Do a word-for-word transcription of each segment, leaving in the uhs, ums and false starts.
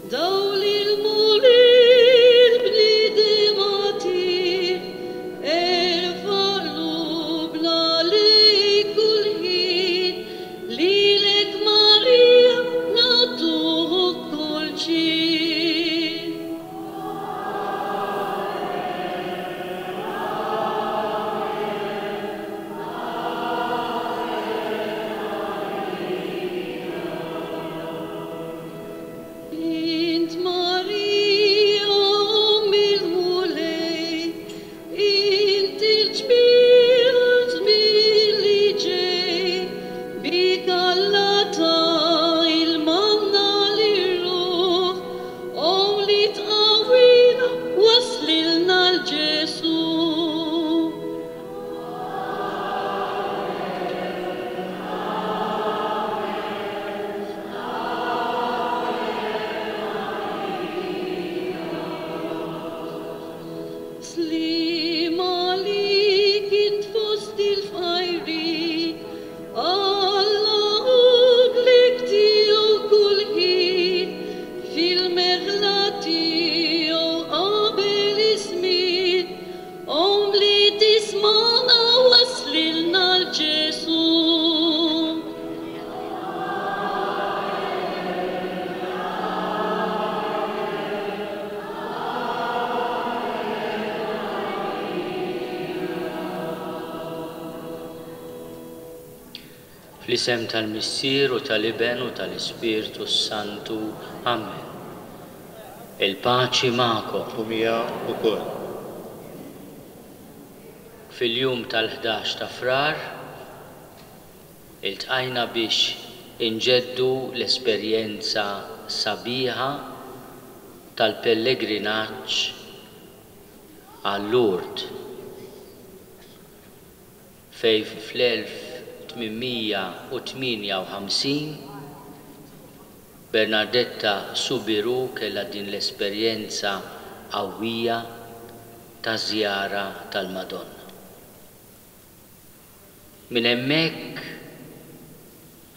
Dawl il-Mulej l-bniedem agħtih, erfa' qlubna lejk kull ħin, lilek Marija nagħtuk kull ġieħ. Int Marija Omm il-Mulej, int il-ġmiel għaż-żmien li ġej, bik Alla ta l-manna lir-ruħ, Omm li tqawwina wasslilna 'l Ġesù. Sliem għalik int fost il-fqajrin, Alla hu blik tiegħu kull ħin, fil-merħla tiegħu qabel iż-żmien, Omm li tismagħna wasslilna 'l Ġesù. Fl-isem tal-Missier u tal-Iben u tal-Ispirtu s-Santu. Amen. Il-paċi magħkom. U miegħek ukoll. Fil-jum tal-ħdax ta' Frar iltqajna biex inġeddu l-esperjenza sabiħa tal-pellegrinaġġ għal Lourdes, fej fl-elf tmienmija u tmienja u ħamsin Bernardetta Soubirous kellha din l-esperjenza qawwija ta' żjara tal-Madonna. Minn hemmhekk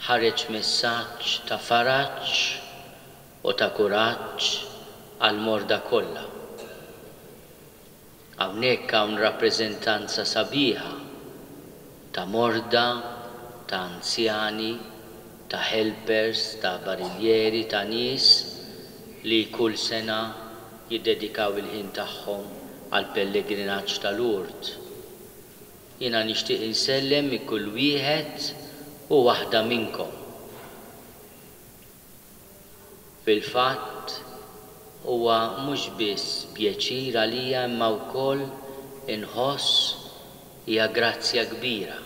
ħareġ messaġġ ta' faraġ u ta' kuraġġ għall-morda kollha. Hawnhekk hawn rappreżentanza sabiħa ta' morda, ta' anzjani, ta' helpers, ta' barillieri, ta' nies li kull sena jiddedikaw il-ħin tagħhom għal pellegrinaġġ ta' Lourdes. Jiena nixtieq insellem minn kull wieħed u waħda minnkom. Fil-fatt huwa mhux biss pjaċir għalija imma wkoll inħoss hija grazzja kbira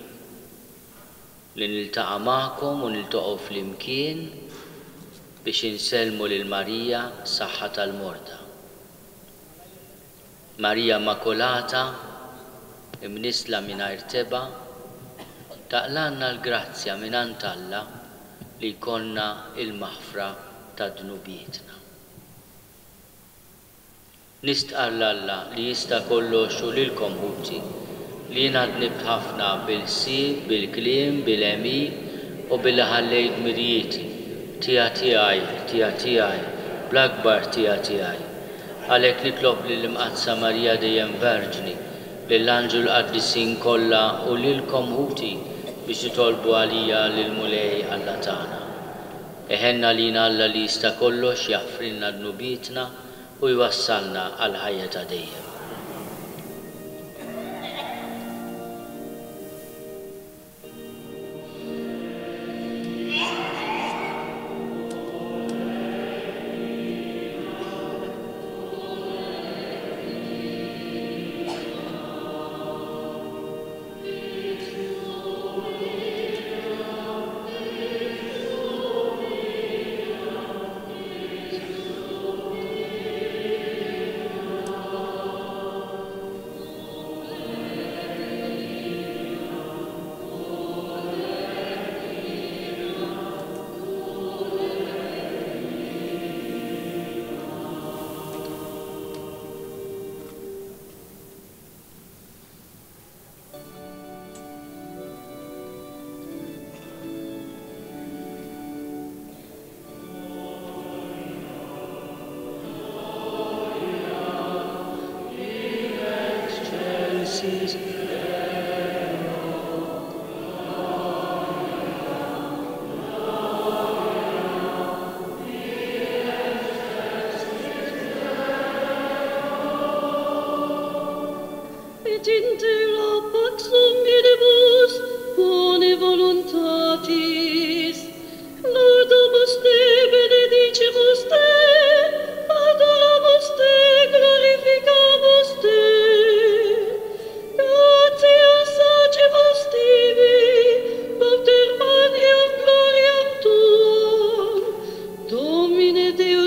li niltaqa' magħkom u niltaqgħu flimkien biex insellmu lil Marija saħħa tal-morda. Marija Immakulata, imnisla mingħajr tebgħa, taqlalna l-grazzja mingħand Alla li jkollna il-maħfra ta' dnubietna. Nistqarr 'l Alla li jista' kollox u lilkom ħuti li jiena dnibt ħafna bil-ħsieb, bil-kliem, bil-għemil u billi ħallejt dmirijieti, ħtija tiegħi, ħtija tiegħi, bl-akbar ħtija tiegħi. Għalhekk nitlob lill-Imqaddsa Marija dejjem Verġni, lill-Anġlu l-Qaddisin kollha u lilkom ħuti biex titolbu għalija lill-Mulej Alla tagħna. Iħenna lina Alla li jista' kollox jaħfrilna dnubietna u jwassalna għall-ħajja ta' dejjem.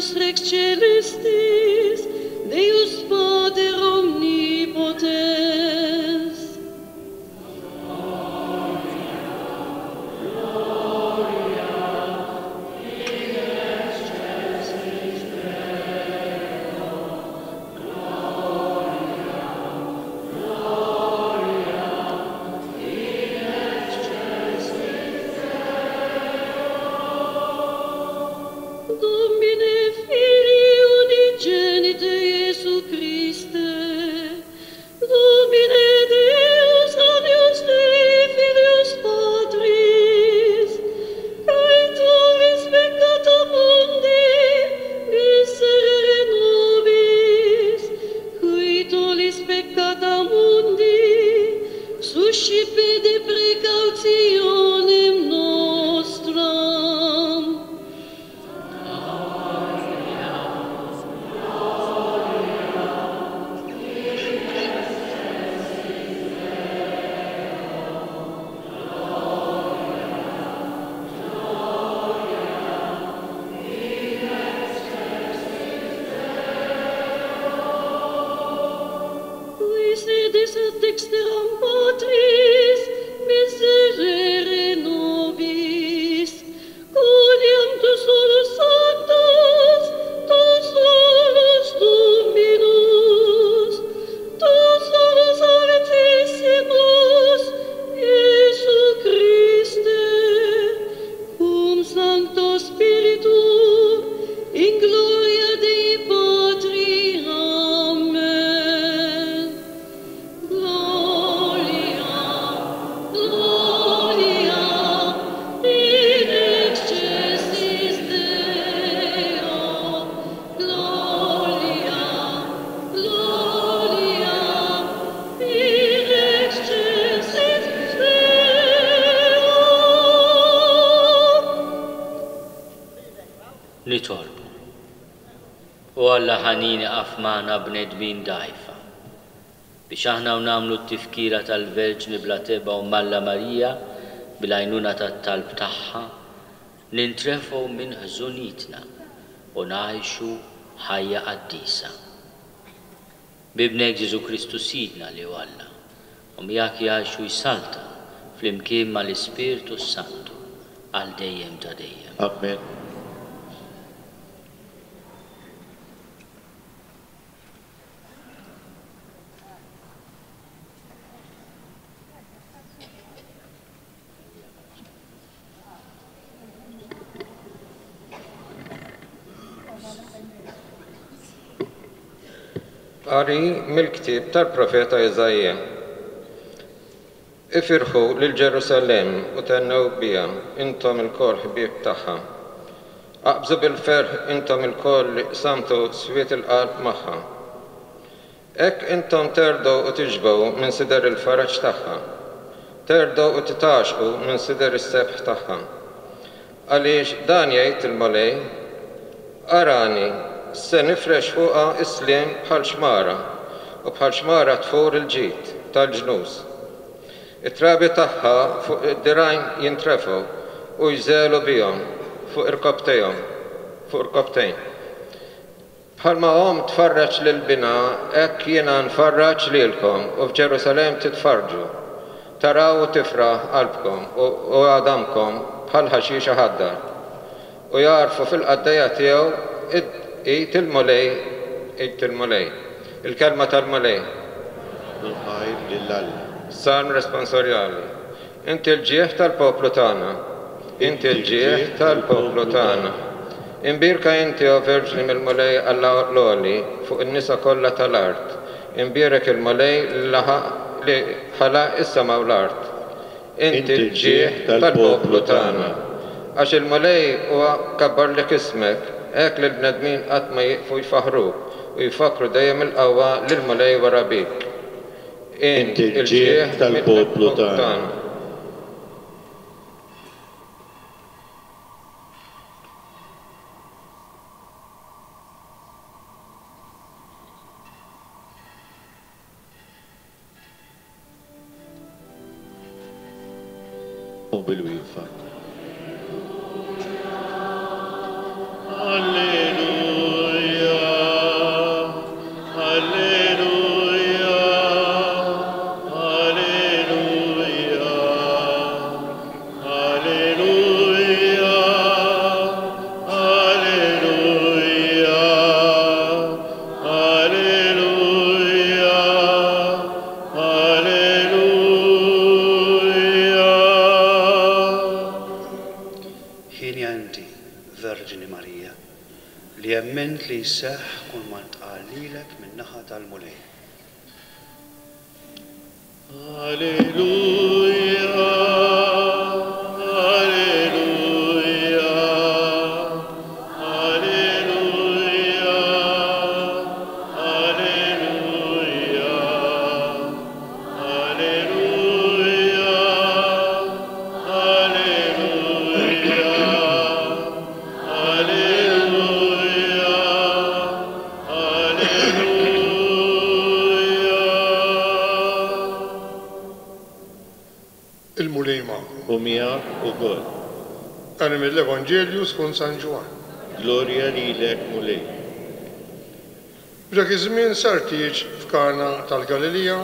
Deus Rex Celestis, Deus Pater Omnipotens. Domine Filii unigenite Iesu Christe, Domine Deus Agnus Dei Filius Patris, quae tollis peccata mundi, miserere nobis, qui tollis peccata mundi, suscipe de precautionem nostram. Qui sedes ad dexteram Patris, miserere nobis, quoniam tu solus sanctus, tu solus Dominus, tu solus Altissimus, Iesu Christe, cum Sancto Spiritu, in gloria Dei Patri. Amen. Gloria, gloria, in excelsis Deo. Gloria, gloria, in excelsis Deo. Nitolbu. O Alla ħanin ieqaf magħna bnedmin dgħajfa, biex aħna u nagħmlu t-tifkira tal-Verġni bla tebgħa u Malla Marija bil-għajnuna tat-talb tagħha, nintrefgħu minn ħżunitna u ngħixu ħajja qaddisa. B'Ibnek Ġesu Kristu Sidna li hu Alla, u miegħek jgħixu jsaltan flimkien mal-Ispirtu s-Santu għal dejjem ta' dejjem. Amen. Qari mill-ktieb tal-profeta Iżaija. Ifirħu lil Ġerusalemm u tennew biha, intom ilkoll ħbieb tagħha. Aqbżu bil-ferħ intom ilkoll li qsamtu swiet il-qalb magħha. Hekk intom terdgħu u tixbgħu minn sider il-faraġ tagħha. Terdgħu u titgħaxqu minn sider is-sebħ tagħha. Għaliex dan jgħid il-Mulej, arani, se nifrex fuqha is-sliem bħal xmara, u bħal xmara tfur il-ġid tal-ġnus. It-trabi tagħha fuq id-dirgħajn jintrefgħu u jżelu bihom fuq irkobtejhom, fuq irkobtejn. Bħalma omm tfarraġ lil binha, hekk jiena nfarraġ lilkom u f'Ġerusalemm titfarġu. Taraw u tifraħ qalbkom u għadamkom bħal ħaxix aħdar. U jarfu fil-qaddejja tiegħu id il-Mulej, id il-Mulej. Il-kelma tal-Mulej. Ħajr lil Alla. Salm responsorjali. Inti l-ġieħ tal-poplu tagħna. Inti l-ġieħ tal-poplu tagħna. Imbierka inti, o Verġni mill-Mulej Alla l-Għoli, fuq in-nisa kollha tal-art. Imbierek il-Mulej li ħalaq is-sema u l-art. Inti l-ġieħ tal-poplu tagħna. Għax il-Mulej huwa kabbarlek ismek, hekk li l-bnedmin qatt ma jieqfu jfaħruk u jfakru dejjem il-qawwa lil Mulej wara bik. Inti l-ġieħ tal-poplu tagħna. Bil-wieqfa. Alleluja. li emmint li jseħħ kull ma ntqal lilek min-naħa tal-Mulej. Alleluja, alleluja, alleluja, alleluja, alleluja, alleluja, alleluja, alleluja. Il-Mulej magħkom. U miegħek ukoll. Qari mill-Evanġelju skont San Ġwann. Glorja lilek, Mulej. F'dak iż-żmien sar tieġ f'Kana tal-Galilija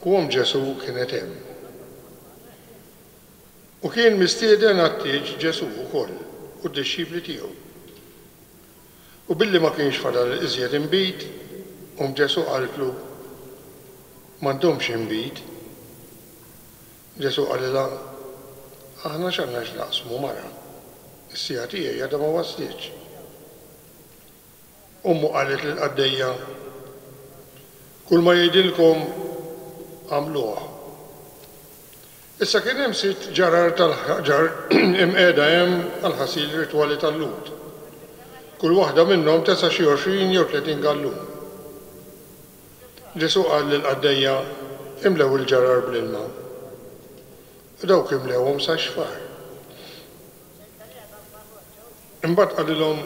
u omm Ġesù kienet hemm. U kien mistieden għat-tieġ Ġesù wkoll u d-dixxipli tiegħu. U billi ma kienx fadal iżjed inbid, omm Ġesù qaltlu, m'għandhomx inbid. Ġesù qalilha, aħna x'għandna x'naqsmu mara, is-siegħa tiegħi għadha ma waslitx. Ommu qalet lill-qaddejja, kull ma jgħidilkom għamluh. Issa kien hemm sitt ġarar tal-ħaġar imqiegħda hemm għall-ħasil ritwali tal-Lhud. Kull waħda minnhom tesa' xi għoxrin jew tletin gallun. Ġesù qal lill-qaddejja, imlew il-ġarar bl-ilma. U dawk imlewhom sa xfar. Imbagħad qalilhom,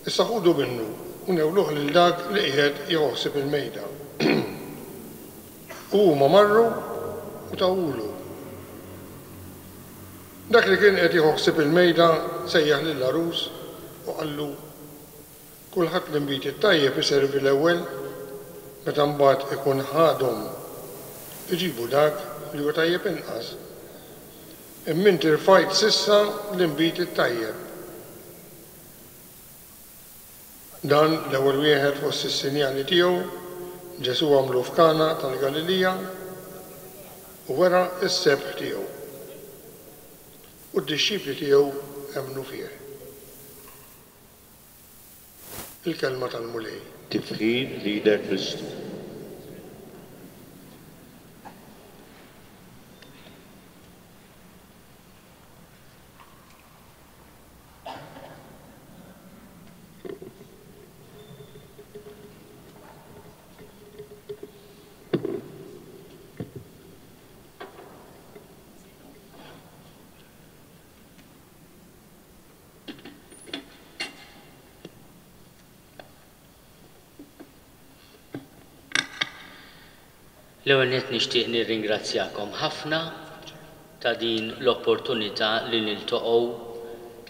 issa ħudu minnu u newluh lil dak li qiegħed jħossib il-mejda. U huma marru u tawulu. Dak li kien qed jħossib il-mejda sejjaħ lill-għarus u qallu, kulħadd l-inbid it-tajjeb iservi l-ewwel, meta mbagħad ikun ħadhom iġibu dak li huwa tajjeb inqas. Imma inti rfajt s'issa l-inbid it-tajjeb. Dan l-ewwel wieħed fost is-sinjali tiegħu Ġesù għamlu f'Kana tal-Galilija u wera s-sebħ tiegħu. U d-dixxipli tiegħu emmnu fih. Il-kelma tal-Mulej. Tifħir lilek Kristu. L-ewwel nett nixtieq nirringrazzjakom ħafna ta' din l-opportunità li niltaqgħu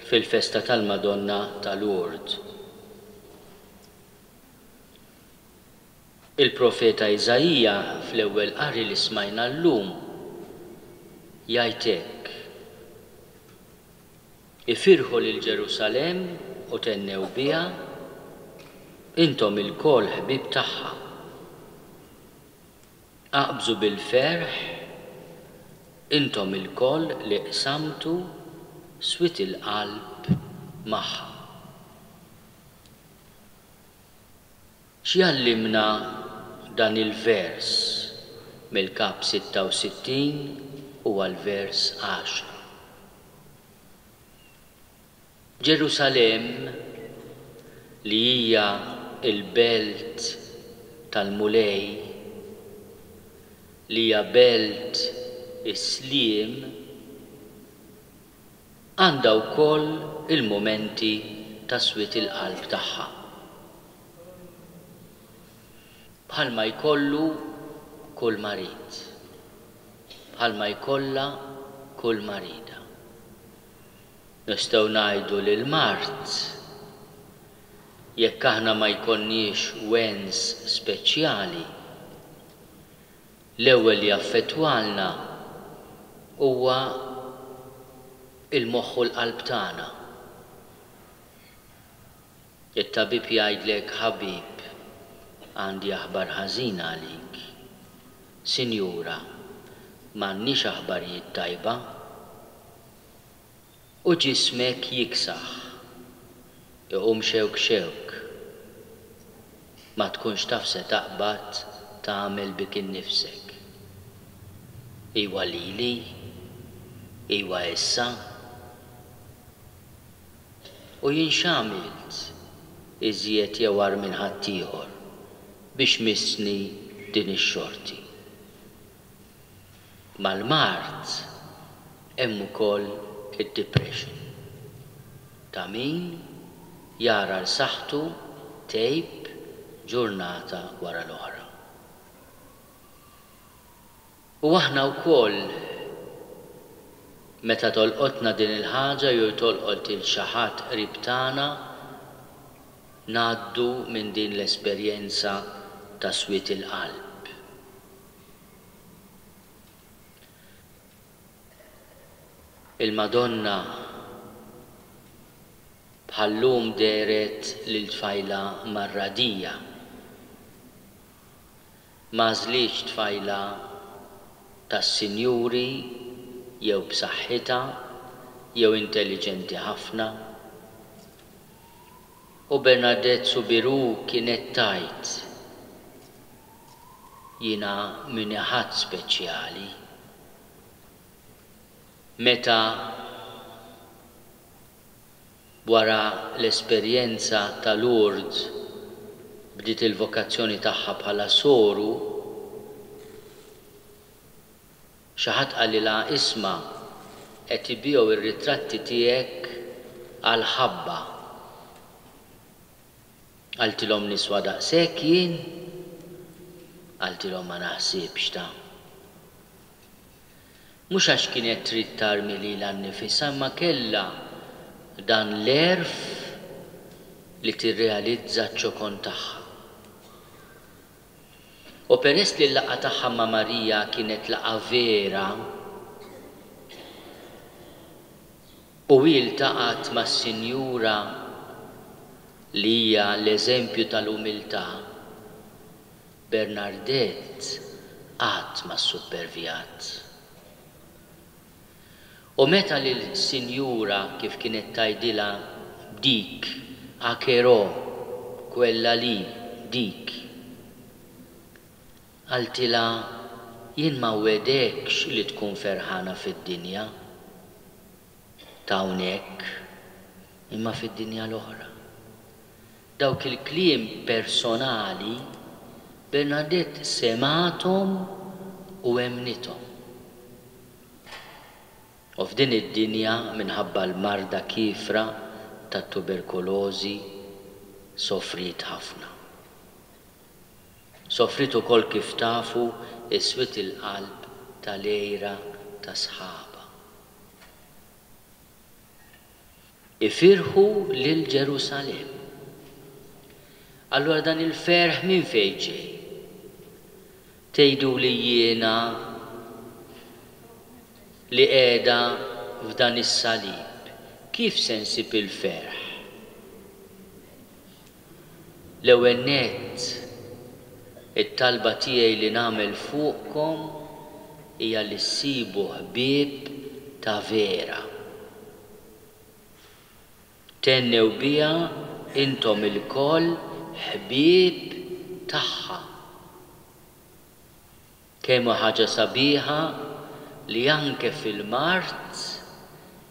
fil-festa tal-Madonna ta' Lourdes. Il-profeta Iżaija fl-ewwel qari li smajna llum jgħid hekk: Ifirħu lil Ġerusalemm u tennew biha, intom ilkoll ħbieb tagħha. Aqbżu bil-ferħ, intom ilkoll li qsamtu swit il-qalb magħha. X'jgħallimna dan il-vers mill-kap sitta u sittin u għal-vers għaxra? Ġerusalemm, li hija l-belt tal-Mulej, li hija belt is-sliem, għandha wkoll il-mumenti ta' swiet il-qalb tagħha. Bħalma jkollu kull marid, bħalma jkollha kull marida. Nistgħu ngħidu lil mard, jekk aħna ma jkollniex wens speċjali, l-ewwel li jaffettwalna huwa il-moħħ u l-qalb tagħna. It-tabib jgħidlek, ħabib, għandi aħbar ħażina għalik. Sinjura, m'għandniex aħbarijiet tajba. U ġismek jiksaħ. Iqum xewk xewk. Ma tkunx taf se taqbad tagħmel bik innifsek. Iwa lili, iwa issa. U jien x'għamilt iżjed jew agħar minn ħaddieħor biex missni din ix-xorti? Mal-mard hemm ukoll id-depression. Ta' min jara l saħħtu tgħib ġurnata wara l-oħra. U aħna wkoll meta tolqotna din il-ħaġa jew tolqot lil xi ħadd qrib tagħna, ngħaddu minn din l-esperjenza ta' swied il-qalb. Il-Madonna bħal-lum dehret lil tfajla marradija. M'għażlitx tfajla tas-sinjuri jew b'saħħitha jew intelliġenti ħafna. U Bernadette Soubirous kienet tgħid, jiena minni ħadd speċjali. Meta wara l-esperjenza ta' Lourdes bdiet il-vokazzjoni tagħha bħala soru, xi ħadd qalilha, isma', qed ibigħu r-ritratti tiegħek għal ħabba. Qaltilhom niswa daqshekk jien? Qaltilhom ma naħsibx ta'. Mhux għax kienet trid tarmi lilha nnifisha, imma kellha dan l-għerf li tirrealizza ċ-ċokon tagħha. U peress li l-laqgħa tagħha ma' Marija kienet laqgħa vera, u hi ltaqgħet mas-Sinjura li hija l-eżempju tal-umiltà, Bernardette qatt ma ssupervjat. U meta lill-Sinjura kif kienet tgħidilha dik, akerò, quella lì, dik, qaltilha jien ma nwegħdekx li tkun ferħana fid-dinja ta' hawnhekk, imma fid-dinja l-oħra. Dawk il-kliem personali Bernadette semgħathom u emmnithom. U f'din id-dinja minħabba l-marda kiefra tat-tuberkulożi sofriet ħafna. Sofriet ukoll kif tafu is-swied il-qalb tal-għira ta' sħaba. Ifirħu lil Ġerusalemm. Allura dan il-ferħ minn fejn ġej? Tgħidu li jiena li qiegħda f'dan is-salib, kif se nsib il-ferħ? L-ewwel nett, it-talba tiegħi li nagħmel fuqkom hija li ssibu ħbieb ta' vera. Tennew biha intom ilkoll ħbieb tagħha. Kemm hu ħaġa sabiħa li anke fil-mard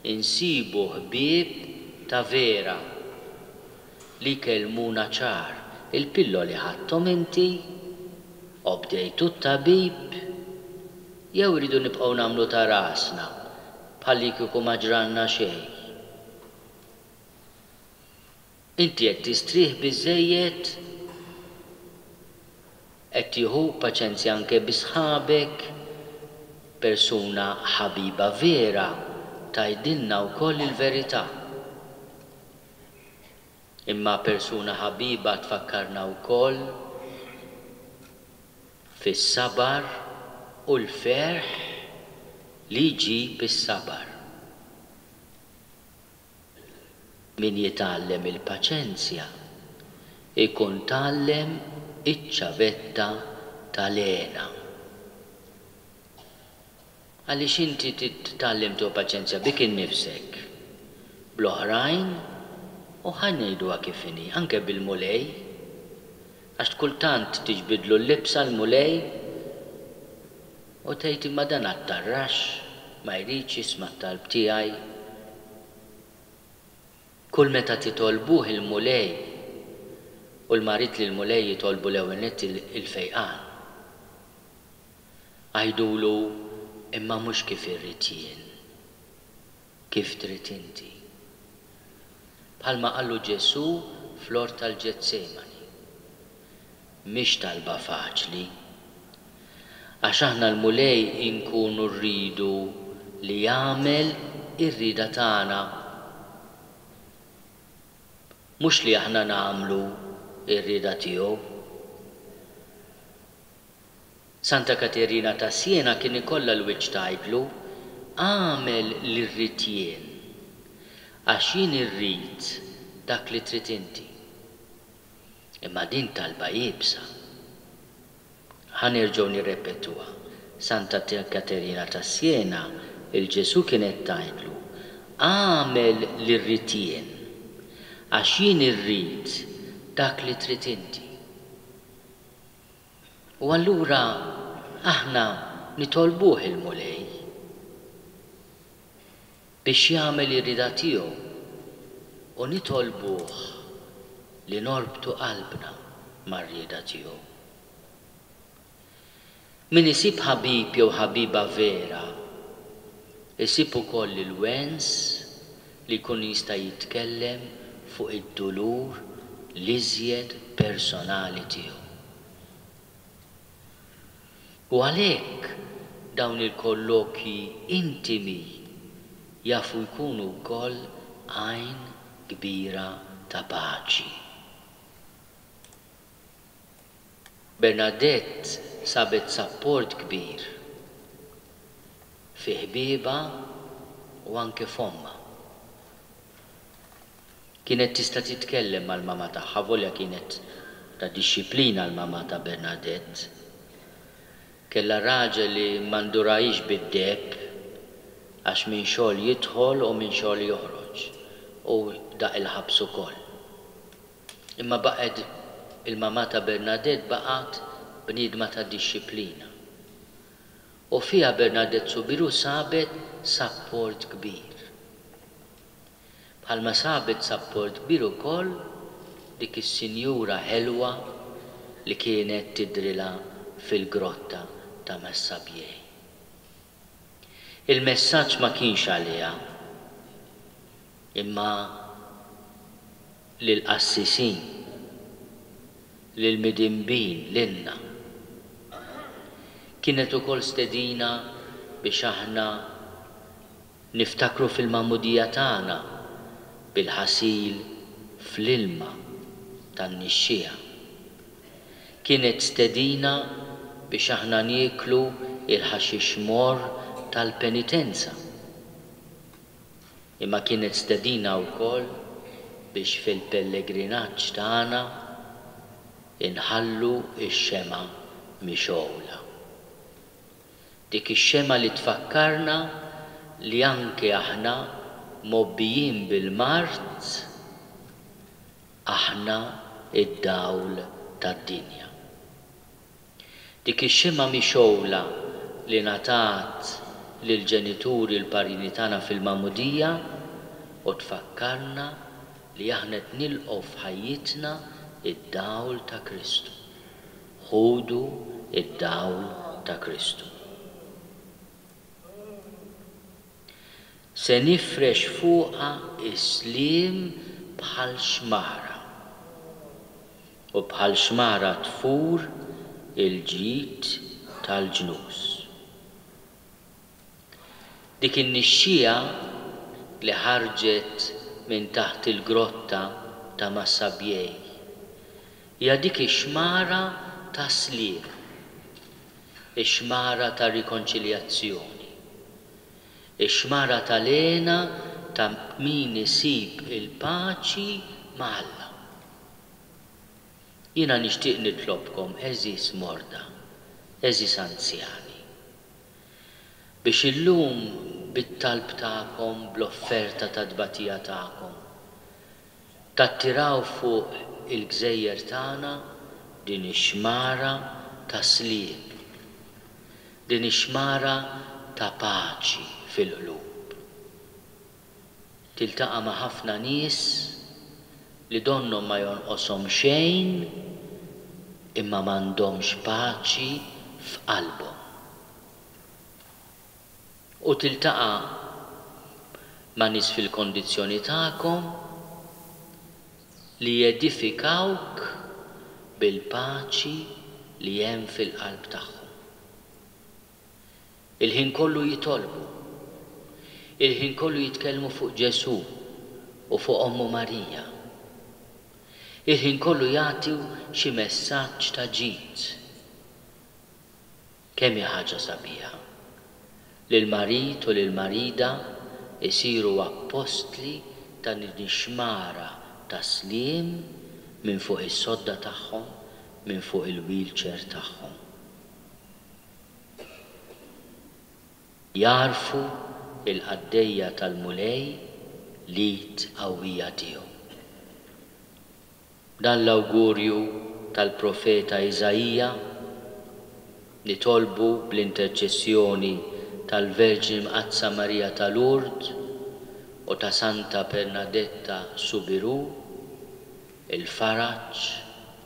insibu ħbieb ta' vera li jkellmuna ċar. Il-pilloli ħadthom inti, obdejtu t-tabib, jew iridu nibqgħu nagħmlu ta' rasna bħalli kieku ma ġranna xejn. Inti qed tistrieħ biżżejjed, qed tieħu paċenzja anke bi sħabek, persuna ħabiba vera tgħidilna wkoll il-verità. Imma persuna ħabiba tfakkarna wkoll fis-sabar u l-ferħ li jġib is-sabar. Min jitgħallem il-paċenzja ikun tgħallem iċ-ċavetta tal-hena. Għaliex inti titgħallem tieħu paċenzja bik innifsek, bl-oħrajn U ħa ngħiduha kif inhi, anke bil-Mulej, għax kultant tiġbidlu l-libsa l-Mulej u tgħid imma dan għat-tarrax, ma jridx jisma' t-talb tiegħi. Kull meta titolbuh il-Mulej, u l-marid lill-Mulej jitolbu l-ewwel nett il-fejqan, għidulu imma mhux kif irrid jien, kif trid inti. Bħalma qallu Ġesù fl-ort tal-Ġetsemani. Mhix talba faċli, għax aħna l-Mulej inkunu rridu li jagħmel ir-rieda tagħna, mhux li aħna nagħmlu r-rieda tiegħu. Santa Katerina ta' Siena kien ikollha l-wiċċ tgħidlu, agħmel li rrid jien, għax jien irrid dak li trid inti. Imma din talba iebsa. Ħa nerġgħu nirrepetuha. Santa Katerina ta' Siena, il-Ġesù kienet tgħidlu, agħmel li rrid jien, għax jien irrid dak li trid inti. U allura aħna nitolbuh il-Mulej biex jagħmel ir-rieda tiegħu u nitolbuh li norbtu qalbna mar-rieda tiegħu. Min isib ħabib jew ħabiba vera, isib ukoll il-wens li jkun jista' jitkellem fuq id-dulur l-iżjed personali tiegħu. U għalhekk dawn il-kollokji intimi jafu jkunu wkoll għajn kbira ta' paċi. Bernadette sabet sapport kbir fi ħbieba u anke f'ommha. Kienet tista' titkellem mal-mama tagħha, volja kienet ta' dixxiplina l-mama ta' Bernadette. Kellha raġel li ma ndurahiex bid-deheb għax minn xogħol jidħol u minn xogħol joħroġ u daq il-ħabs ukoll. Imma baqgħet il-mama ta' Bernadette baqgħet bniedma ta' dixxiplina. U fiha Bernadette Soubirous sabet sapport kbir. Bħalma sabet sapport kbir ukoll dik is-sinjura ħelwa li kienet tidrilha fil-grotta ta' Massabielle. Il-messaġġ ma kienx għaliha, imma lill-qassisin, lill-midinbin, lilna. Kienet ukoll stedina biex aħna niftakru fil-magħmudija tagħna bil-ħasil fl-ilma tan-nixxija. Kienet stedina biex aħna nieklu il-ħaxix mor tal-penitenza. Imma kienet stedina wkoll biex fil-pellegrinaġġ tagħna inħallu x-xema mixgħula. Dik ix-xema li tfakkarna li anke aħna mobbijin bil-mard, aħna id-dawl tad-dinja. Dik ix-xema mixgħula li ngħatat lill-ġenituri l-parini tagħna fil-magħmudija u tfakkarna li aħna qed nilqgħu f'ħajjitna id-dawl ta' Kristu. Ħudu id-dawl ta' Kristu. Se nifrex fuqha is-sliem bħal xmara, u bħal xmara tfur il-ġid tal-ġnus. Dik in-nixxija li ħarġet minn taħt il-grotta ta' Massabielle hija dik ix-xmara ta' sliem, ix-xmara ta' rikonċiljazzjoni, ix-xmara tal-hena ta' min isib il-paċi ma' Alla. Jiena nixtieq nitlobkom, għeżież morda, għeżież anzjani, biex illum bit-talb tagħkom, bl-offerta ta' tbatija tagħkom, Tattiraw fuq il-gżejjer tagħna din ix-xmara ta' sliem, din ix-xmara ta' paċi fil-qlub. Tiltaqa' ma' ħafna nies li donnhom ma jonqoshom xejn imma m'għandhomx paċi f'qalbhom. U tiltaqa' ma' nies fil-kondizzjoni tagħkom li jedifikawk bil-paċi li hemm fil-qalb tagħhom. Il-ħin kollu jitolbu, il-ħin kollu jitkellmu fuq Ġesù u fuq Ommu Marija. Il-ħin kollu jagħtu xi messaġġ ta' ġid. Kemm hi ħaġa sabiħa li l-marid u lill-marida jsiru appostli ta' din ix-xmara ta' sliem minn fuq is-sodda tagħhom, minn fuq il-wheelchair tagħhom. Jagħrfu il-qaddejja tal-Mulej l-id qawwija tiegħu. Dan l-awgurju tal-profeta Iżaija nitolbu bl-interċessjoni tal-Verġni Mqaddsa Marija ta' Lourdes u ta' Santa Bernadetta Soubirous, il-faraġ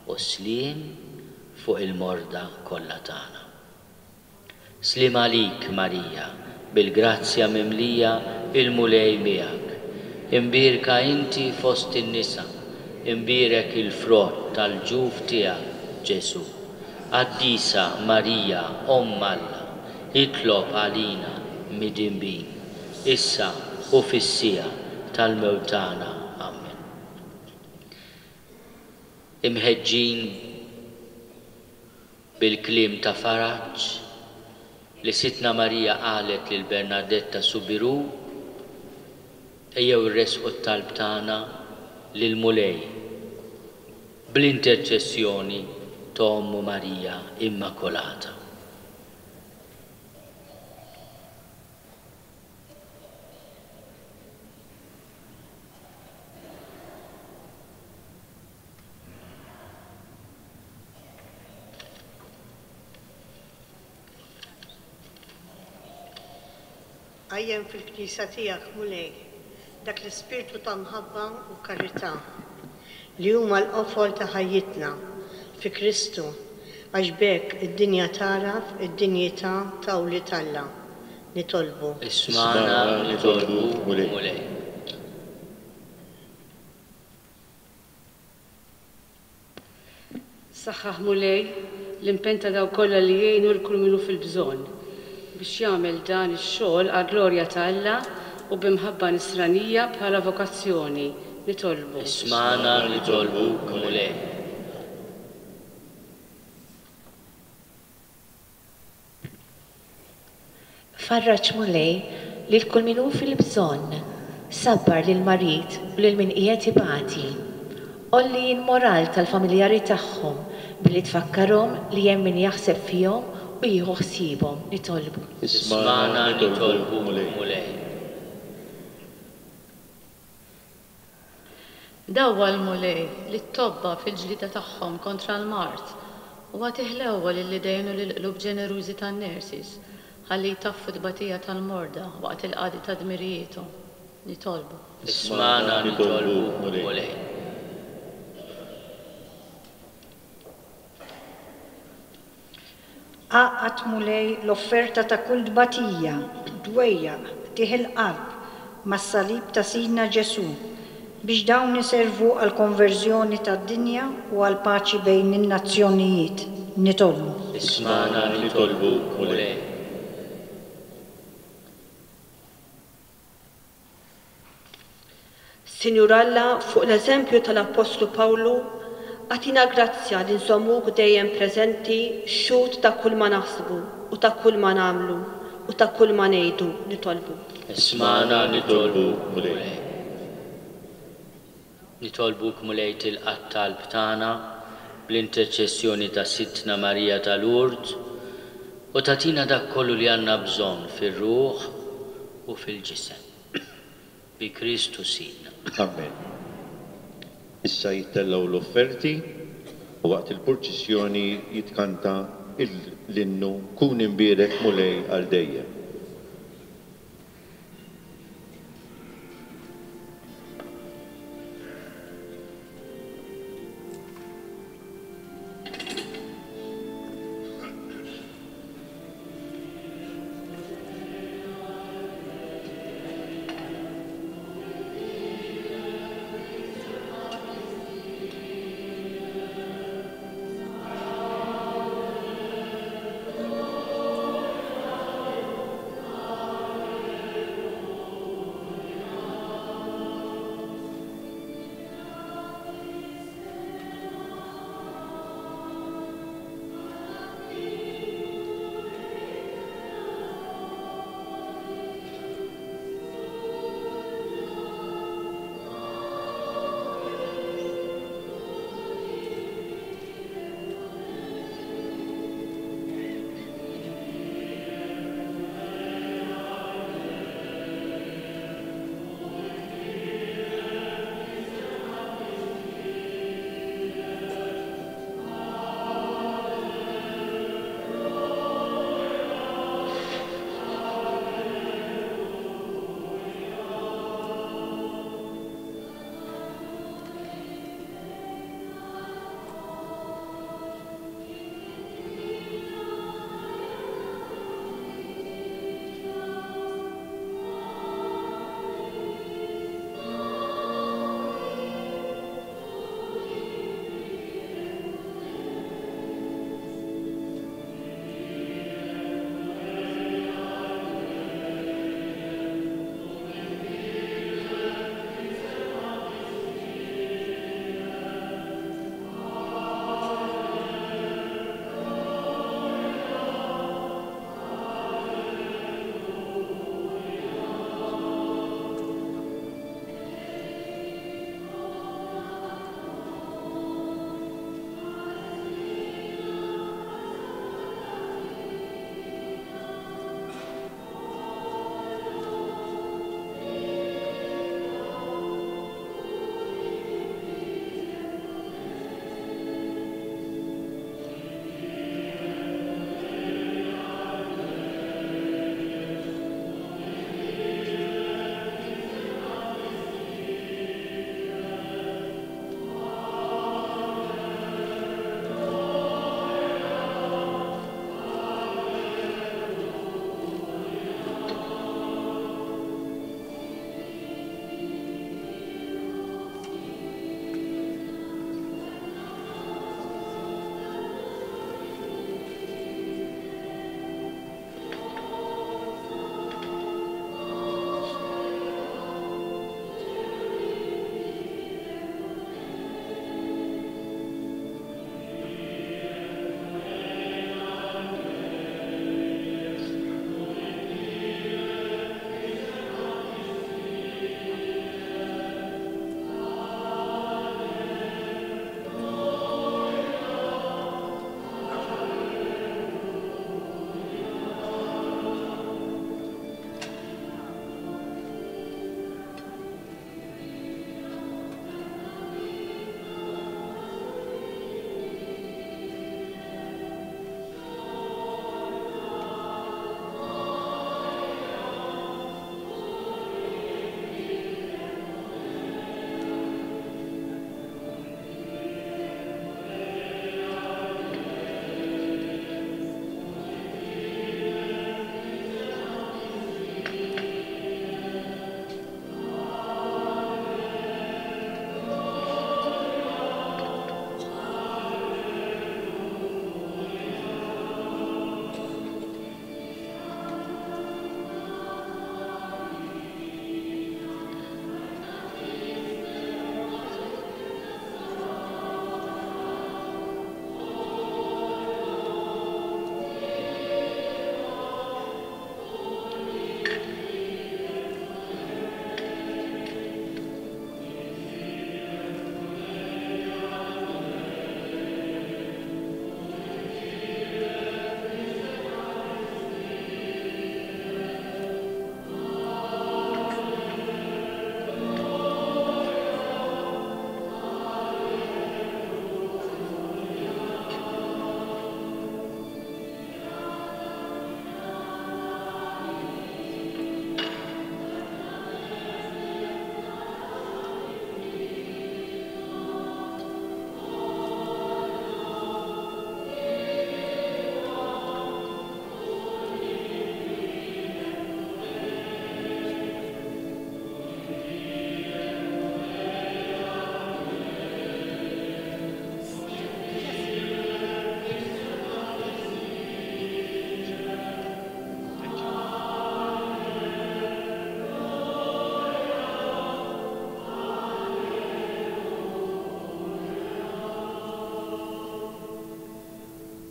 u s-sliem fuq il-morda kollha tagħna. Sliem għalik, Marija, bil-grazzja mimlija, il-Mulej miegħek. Imbierka inti fost in-nisa, imbierek il-frott tal-ġuf tiegħek, Ġesù. Qaddisa Marija, Omm Alla, itlob għalina midinbin, issa u fis-siegħa tal-mewt tagħna. Amen. Imħeġġin bil-kliem ta' faraġ li Sidtna Marija qalet lil Bernadetta Soubirous, ejjew irresqu t-talb tagħna lill-Mulej bl-interċessjoni ta' Ommu Marija Immakolata. Qajjem fil-Knisja tiegħek, Mulej, dak l-ispirtu ta' mħabba u karità li huma l-qofol ta' ħajjitna fi Kristu, għax b'hekk id-dinja tagħraf id-dinjità ta' wlied Alla. Nitolbu. Ismagħna nitolbuk, Mulej. Saħħaħ, Mulej, l-impenn ta' dawk kollha li jgħinu lil kull min hu fil-bżonn biex jagħmel dan ix-xogħol għall-glorja ta' Alla u b'imħabba nisranija bħala vokazzjoni. Nitolbu. Ismagħna nitolbuk, Mulej. Farraġ, Mulej, lil kull min hu fil-bżonn, sabbar lil marid u lil min qiegħed ibati. Għolli l-moral tal-familjari tagħhom billi tfakkarhom li hemm min jaħseb fihom u jieħu ħsiebhom. Nitolbu. Ismagħna nitolbuk, Mulej. Dawwal, Mulej, lit-tobba fil-ġlieda tagħhom kontra l-mard u agħti ħlewwa lill-idejn u lill-qlub ġenerużi tan-nurses ħalli jtaffu t-tbatija tal-morda waqt il-qadi ta' dmirijiethom. Nitolbu. Ismagħna nitolbuk, Mulej. Għaqqad, Mulej, l-offerta ta' kull tbatija, dwejjaq, qtigħ il-qalb mas-salib ta' Sidna Ġesù biex dawn iservu għall-konverżjoni tad-dinja u għall-paċi bejn in-nazzjonijiet. Nitolbu. Ismagħna nitolbuk, Mulej. Sinjur Alla, fuq l-eżempju tal-Appostlu Pawlu, agħtina grazzja li nżommuk dejjem preżenti xhud ta' kull ma naħsbu u ta' kull ma nagħmlu u ta' kull ma ngħidu. Nitolbu. Ismagħna nitolbuk, Mulej. Nitolbuk, Mulej, tilqa' t-talb tagħna bl-interċessjoni ta' Sidtna Marija ta' Lourdes u tagħtina dak kollu li għandna bżonn fir-ruħ u fil-ġisem. Bi Kristu Sidna. Amen. Issa jittellgħu l-offerti u waqt il-purċissjoni jitkanta l-innu Kun imbierek Mulej għal dejjem.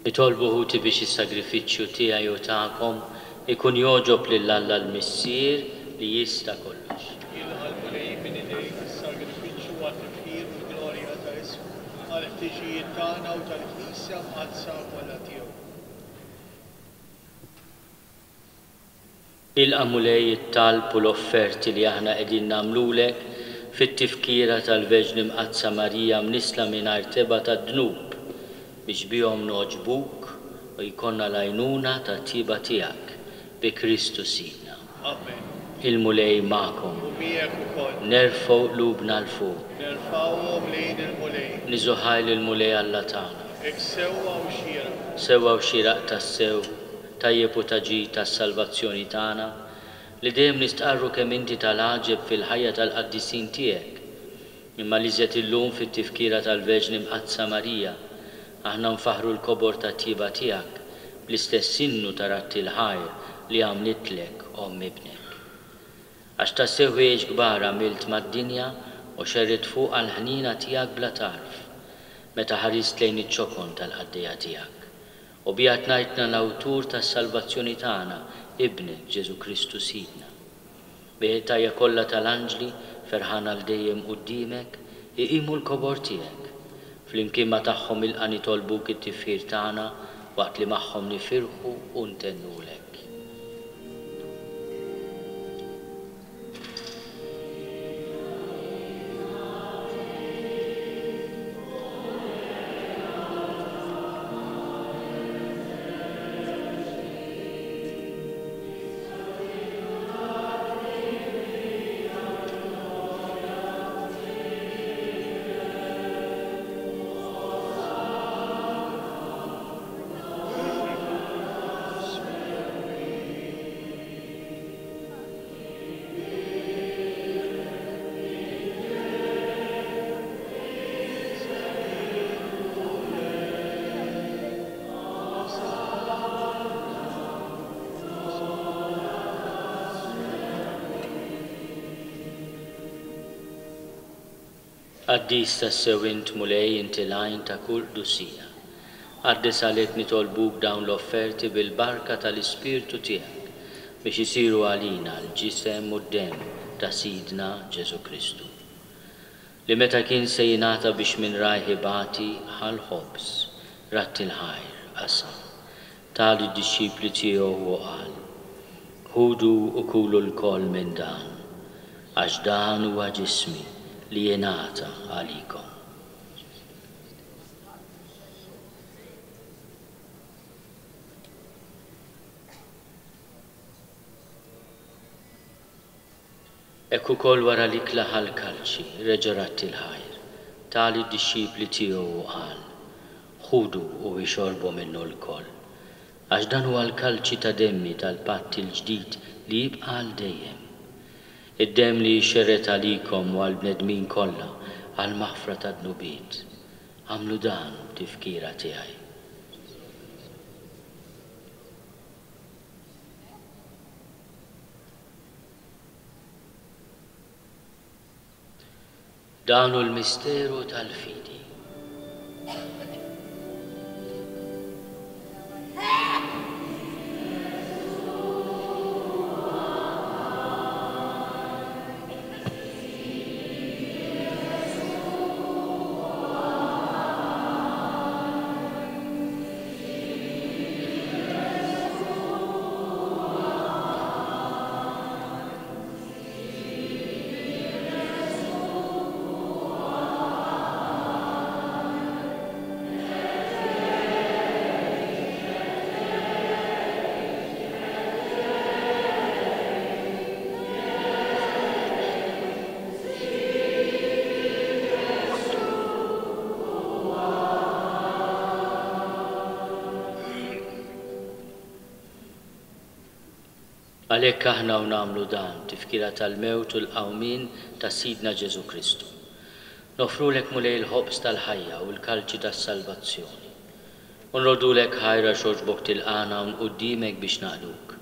Itolbu ħuti biex is-sagrifiċċju tiegħi u tagħkom ikun jogħġob lil Alla l-Missier li jista' kollox. Jilqa' l-Mulej minn idejk is-sagrifiċċju għat-tifħir u l-glorja ta' ismu, għall-ħtiġijiet tagħna u tal-Knisja mqaddsa kollha tiegħu. Ilqa' Mulej it-talb u l-offerti li aħna qegħdin nagħmlulek fit-tifkira tal-Verġni Mqaddsa Marija mnissla mingħajr tebgħa tad-dnub, biex bihom nogħġbuk u jkollna l-għajnuna tat-tjieba tiegħek bi Kristu Sidna. Amen. Il-Mulej magħkom. U miegħek ukoll. Nerfgħu qlubna 'l fuq. Nerfgħuhom lejn il-Mulej. Niżu ħaj lill-Mulej Alla tagħna. Hekk sewwa u xieraq. Sewwa u xieraq tassew, tajjeb u ta' ġid tas-salvazzjoni tagħna, li dejjem nistqarru kemm inti tal-għaġeb fil-ħajja tal-qaddisin tiegħek. Imma l-iżjed illum fit-tifkira tal-Verġni Mqaddsa Marija, aħna nfaħħru l-kobor tat-tjieba tiegħek bl-istess innu ta' radd il-ħajr li għamlitlek omm ibnek. Għax tassew ħwejjeġ kbar għamilt mad-dinja u xerridt fuqha l-ħniena tiegħek bla tarf, meta ħarist lejn iċ-ċokon tal-qaddejja tiegħek. U biha tnajtna l-awtur tas-salvazzjoni tagħna, ibnek Ġesù Kristu Sidna. Bih it-tajja kollha tal-anġli, ferħana għal dejjem quddiemek, iqimu l-kobor tiegħek. Flimkien ma' tagħhom ilqa' nitolbuk it-tifħir tagħna waqt li magħhom nifirħu u ntennulek. Qaddis tassew int Mulej, inti l-għajn ta' kull qdusija. Qaddis għalhekk nitolbuk dawn l-offerti bil-barka tal-Ispirtu tiegħek biex isiru għalina l-ġisem u d-demm ta' Sidna Ġesù Kristu. Li meta kien se jingħata biex minn rajh ibati ħa l-ħobż, radd il-ħajr, qasam, ta lid-dixxipli tiegħu u qal: Ħudu u kulu lkoll minn dan, għax dan huwa ġismi li jingħata għalikom. Hekk ukoll wara l-ikla ħa l-kalċi, reġa' radd il-ħajr, ta lid-dixxipli tiegħu u qal: Ħudu u ixorbu minnu lkoll, għax dan huwa l-kalċi ta' demmi tal-patt il-ġdid li jibqa' għal dejjem. Id-demm li jxerred għalikom u għall-bnedmin kollha għall-maħfra ta' dnubiet. Agħmlu dan b'tifkira tiegħi. Dan hu l-misteru tal-fidi. Għalhekk aħna u nagħmlu dan, tifkira tal-mewt u l-qawmien ta' Sidna Ġesù Kristu. Nofrulek Mulej il-ħobż tal-ħajja u l-kalċi tas-salvazzjoni. U nrodulek ħajra xogħġbok tilqana hawn quddiemek biex naqduk.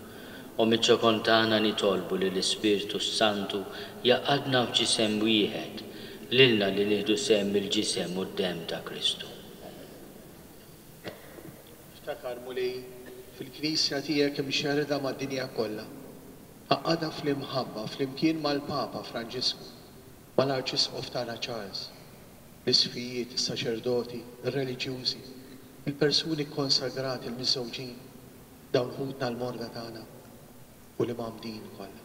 U miċ-ċokon tagħna nitolbu li l-Ispirtu s-Santu jaqadna f'ġisem wieħed, lilna li nieħdu sehem mill-ġisem u d-demm ta' Kristu. Ftakar, Mulej, fil-Knisja tiegħek imxerrda mad-dinja kollha. Għaqqadha fl-imħabba flimkien mal-Papa Franġisku, mal-Arċisqof tagħna Charles, l-isqfijiet, is-saċerdoti, ir-reliġjużi, il-persuni kkonsagrati, il-miżżewġin, dawn ħutna l-morda tagħna u l-imgħammdin kollha.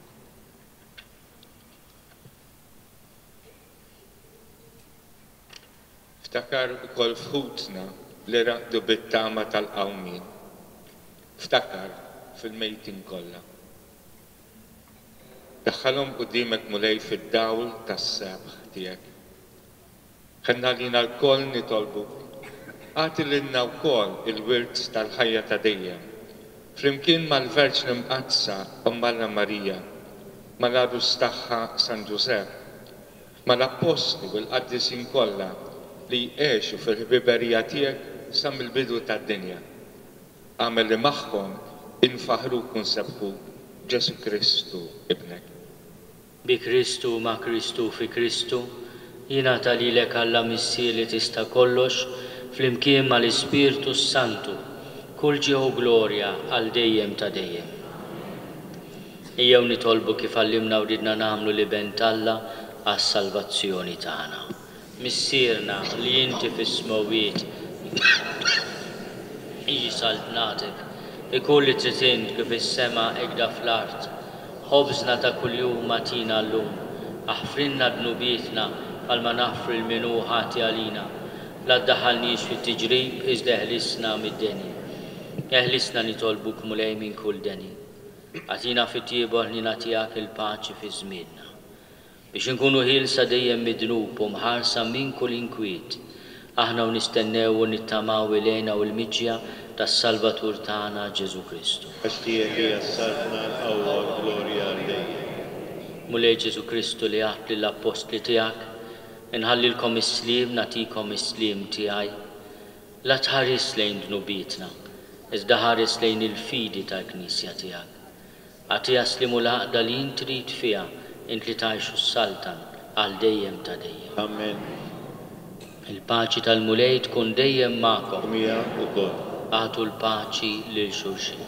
Ftakar ukoll f'ħutna li raqdu bit-tama tal-qawmien. Ftakar fil-mejtin kollha. Daħħalhom quddiemek, Mulej, fid-dawl tas-sebħ tiegħek. Ħenna lina lkoll nitolbuk. Agħti lilna wkoll il-wirt tal-ħajja ta' dejjem. Flimkien mal-Verġni Mqaddsa Omm Alla Marija, mal-għarus tagħha San Ġużepp, mal-Appostli u l-qaddisin kollha li għexu fil-ħbiberija tiegħek sa mill-bidu tad-dinja. Agħmel li magħhom infaħruk u nsebbħuk Ġesù Kristu ibnek. Bi Kristu, ma' Kristu, fi Kristu, jingħata lilek Alla Missier li tista' kollox, flimkien mal-Ispirtu Santu, kull ġieħ u glorja għal dejjem ta' dejjem. Ejjew nitolbu kif għallimna u ridna nagħmlu l-Iben t'Alla għas-salvazzjoni tagħna. Missierna li inti fis-smewwiet, jiġi saltnatek, ikun li trid int kif is-sema hekk fl-art. Ħobżna ta' kuljum agħtina llum, aħfrilna dnubietna bħalma naħfru lil min hu ħati għalina. La ddaħħalniex fit-tiġrib iżda eħlisna mid-deni. Eħlisna nitolbuk Mulej minn kull deni. Agħtina fit-tjieba u l-ħniena tiegħek il-paċi fi żmienna, biex inkunu ħielsa dejjem mid-dnub u mħarsa minn kull inkwiet. Aħna u nistennew u nittamaw il-hena u l-miġja tas-Salvatur tagħna Ġesù Kristu. Għax tiegħek hija s-saltna, l-qawwa u l-glorja għal dejjem. Mulej Ġesù Kristu li għedt lill-appostli tiegħek, inħallilkom is-sliem, nagħtikom is-sliem tiegħi. La tħares lejn dnubietna, iżda ħares lejn il-fidi tal-Knisja tiegħek. Agħtiha sliem u l-għaqda li int trid fiha, int li tgħix u ssaltan għal dejjem ta' dejjem. Amen. Il-paċi tal-Mulej tkun dejjem magħkom. U miegħek ukoll. Agħtu l-paċi lil xulxin.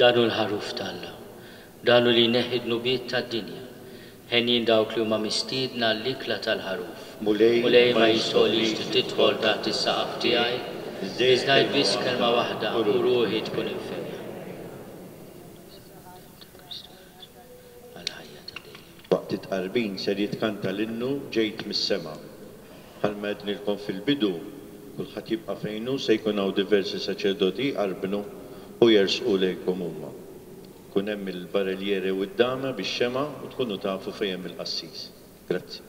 Dan hu l-ħaruf t'Alla, dan hu li jneħħi dnubiet tad-dinja. Henjin dawk li huma mistiedna l-ikla tal-ħaruf. Mulej, Mulej ma jistħoqlix li tidħol taħt is-saqaf tiegħi, iżda ngħid biss kelma waħda u ruħi tkun infejqa. Waqt it-tqarbin ser jitkanta l-innu Ġejt mis-sema. Bħalma għednilkom fil-bidu, kulħadd jibqa' fejnu, se jkun hawn diversi saċerdoti jqarbnu u jersqu lejkom huma. Kun hemm il-barelliere u d-dama bix-xema u tkunu tafu fejn hemm il-qassis. Grazzi.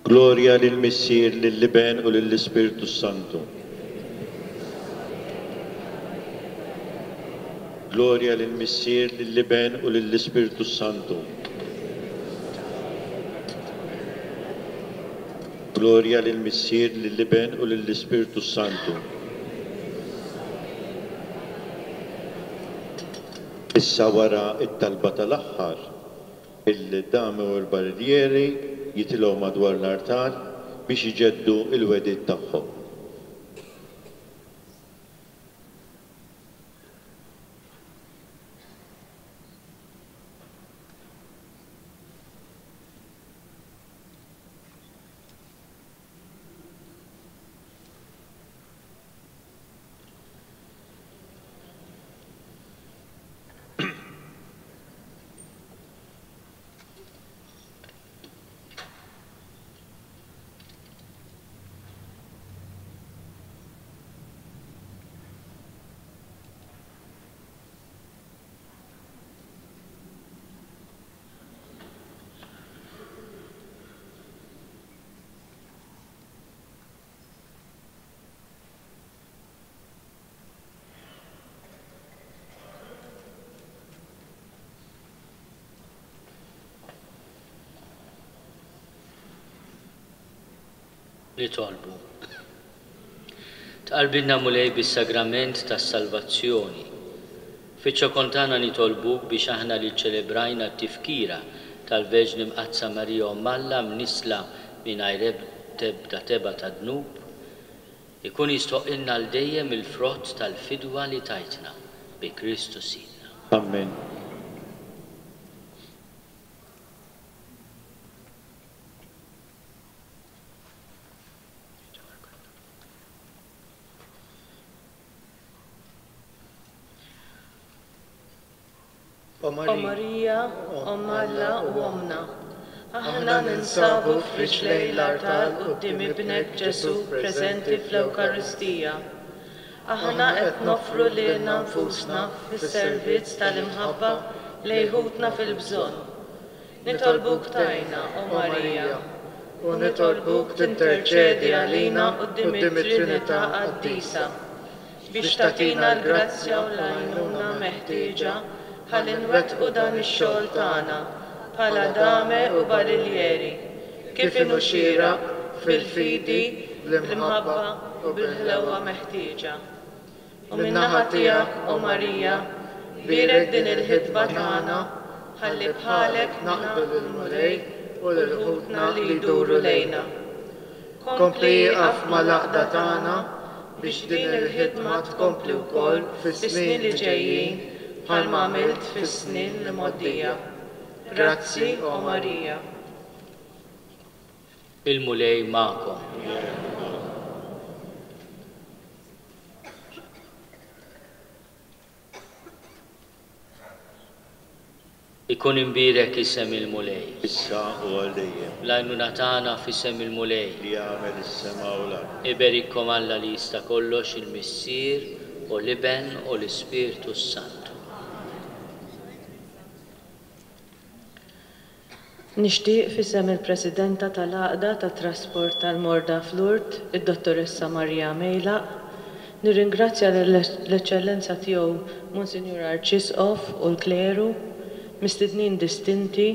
Glorja lill-Missier, lill-Iben u lill-Ispirtu Santu. Glorja lill-Missier, lill-Iben u lill-Ispirtu Santu. Glorja lill-Missier, lill-Iben u lill-Ispirtu Santu. Issa wara it-talba tal-aħħar, il-dami u l-barrieri jitilgħu madwar l-artal biex iġeddu il-wedid tagħhom. Nitolbu. Tqarbinna Mulej bis-sagrament tas-salvazzjoni. Fiċ-ċokon tagħna nitolbuk biex aħna li ċċelebrajna t-tifkira tal-Verġni Mqaddsa Marija Omm Alla mnisla mingħajr ebda tebgħa ta' dnub, ikun jistħoqqilna għal dejjem il-frott tal-fidwa li tajtna bi Kristu Sidna. Amen. O Marija, Omm Alla u Ommna, aħna ninsabu f'riġlej l-artal quddiem Ibnek Ġesù preżenti fl-Ewkaristija. Aħna qed noffru lilna nfusna fis-servizz tal-imħabba lejn ħutna fil-bżonn. Nitolbuk tgħinna, O Marija, u nitolbuk tinterċedi għalina quddiem it-Trinità Qaddisa biex tagħtina l-grazzja u l-għajnuna meħtieġa ħalli nwettqu dan ix-xogħol tagħna bħala dame u barillieri, kif inhu xieraq fil-fidi, bl-imħabba u bil-ħlewwa meħtieġa. U min-naħa tiegħek, O Marija, bierek din il-ħidma tagħna ħalli bħalek naqdu lill-Mulej u lil ħutna li jduru lejna. Kompli ieqaf mal-għaqda tagħna biex din il-ħidma tkompli wkoll fis-snin li ġejjin bħalma għamilt fis-snin li mgħoddija. Grazzi, O Marija. Il-Mulej magħkom. Ikun imbierek isem il-Mulej. Issa u għal dejjem. L-għajnuna tagħna f'isem il-Mulej. Li għamel is-sema u l-art. Iberikkom Alla li jista' kollox, il-Missier u l-Iben u l-Ispirtu s-Santu. Nixtieq f'isem il-Presidenta tal-Għaqda tat-Trasport tal-Morda f'Lourdes, id-Dottoressa Maria Mejlaq, nirringrazzja l-Eċċellenza tiegħu Monsinjur Arċisqof u l-Kleru, mistednin distinti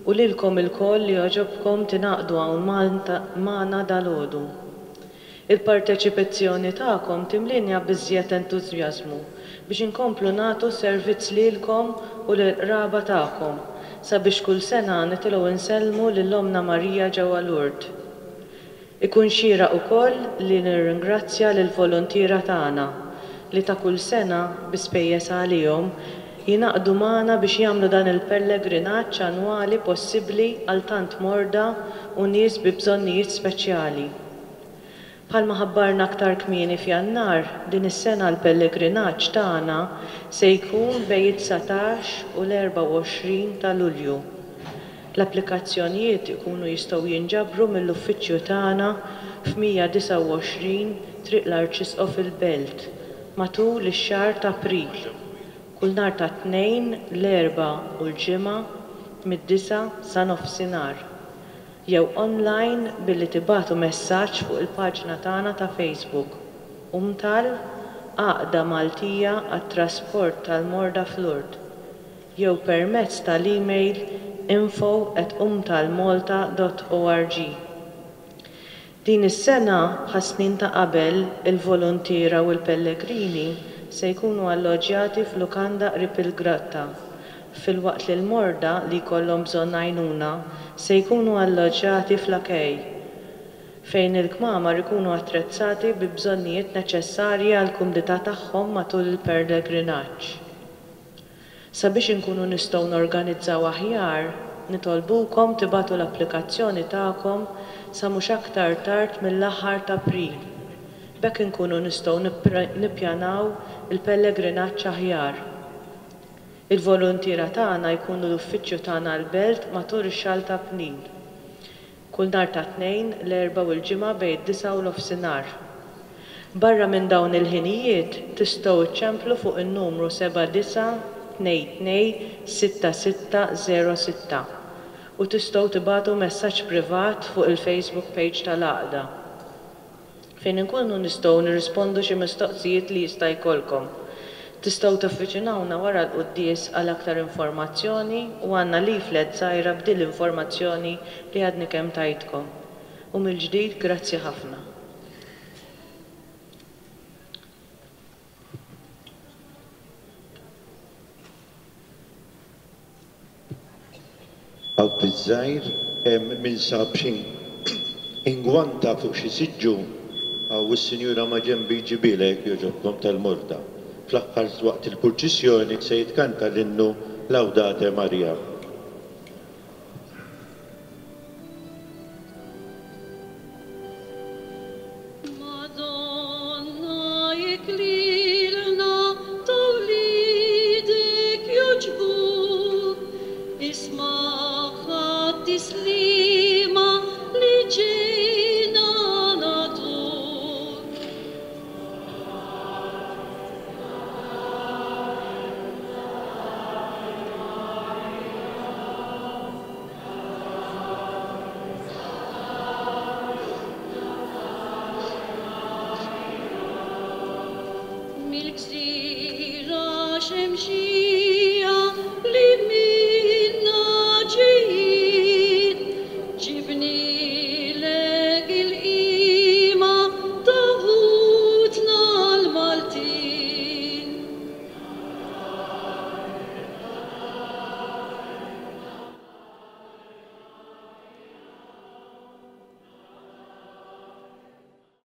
u lilkom ilkoll li għoġobkom tingħaqdu hawn magħna dalgħodu. Il-parteċipazzjoni tagħkom timlinja biżżejjed entużjażmu biex inkomplu nagħtu servizz lilkom u lill-qraba tagħkom sabiex kull sena nitilgħu nsellmu lil Ommna Marija ġewwa Lourdes. Ikun xieraq ukoll li nirringrazzja lill-volontiera tagħna li ta' kull sena bi spejjeż għalihom jingħaqdu magħna biex jagħmlu dan il-pellegrinaġġ annwali possibbli għal tant morda u nies bi bżonnijiet speċjali. Bħalma ħabbarna aktar kmieni f'Jannar, din is-sena l-pellegrinaġġ tagħna se jkun bejn it-dsatax u l-erbgħa u għoxrin ta' Lulju. L-applikazzjonijiet ikunu jistgħu jinġabru mill-uffiċċju tagħna f'mija disgħa u għoxrin Triq l-Arċisqof il-Belt matul ix-xahar ta' April, kull nhar ta' tnejn, l-Erbgħa u l-Ġimgħa mid-disgħa sa nofsinhar. jew online billi tibagħtu messaġġ fuq il-paġna tagħna ta' Facebook UMTAL Għaqda Maltija għat-Trasport tal-Morda f'Lourdes jew permezz tal-email info at umtalmalta dot org. Din is-sena bħas-snin ta' qabel il-voluntiera u l-pellegrini se jkunu alloġġjati f'lukanda qrib il-grotta, filwaqt li l-morda li jkollhom bżonn għajnuna se jkunu alloġġjati fl-akej, fejn il-kmamar ikunu attrezzati bi bżonnijiet neċessarji għall-kumdità tagħhom matul il-pellegrinaġġ. Sabiex inkunu nistgħu norganizzaw aħjar, nitolbukom tibagħtu l-applikazzjoni tagħkom sa mhux aktar tard mill-aħħar ta' April. B'hekk inkunu nistgħu nippjanaw il-pellegrinaġġ aħjar. Il-voluntiera tagħna jkunu l-uffiċċju tagħna l-Belt matul ix-xahar ta' April. Kull nhar ta' tnejn, l-Erbgħa u l-Ġimgħa bejn id-disgħa u l-ofsinhar. Barra minn dawn il-ħinijiet tistgħu iċċemplu fuq in-numru seba' disa' tnejn tnejn sitta sitta zero sitta u tistgħu tibagħtu messaġġ privat fuq il-Facebook page tal-Għaqda fejn inkunu nistgħu nirrispondu xi mistoqsijiet li jista' jkollkom. Tistgħu taffiċinawna wara l-quddies għal aktar informazzjoni u għandna leaflet żgħira b'din l-informazzjoni li għadni kemm tajtkom. U mill-ġdid grazzi ħafna. Għaw biż-żgħir hemm min sab xi ingwanta fuq xi siġġu għaw is-sinjura ma' ġenbi jġibilek jogħġobkom tal-morda. Fl-aħħar waqt il-purċissjoni se jitkanta l-innu Laudate Maria. Madonna, iklilna ta' wliedek jogħġbuk, isma' tislima li ġejna nagħtuk. Mill-gżira xemxija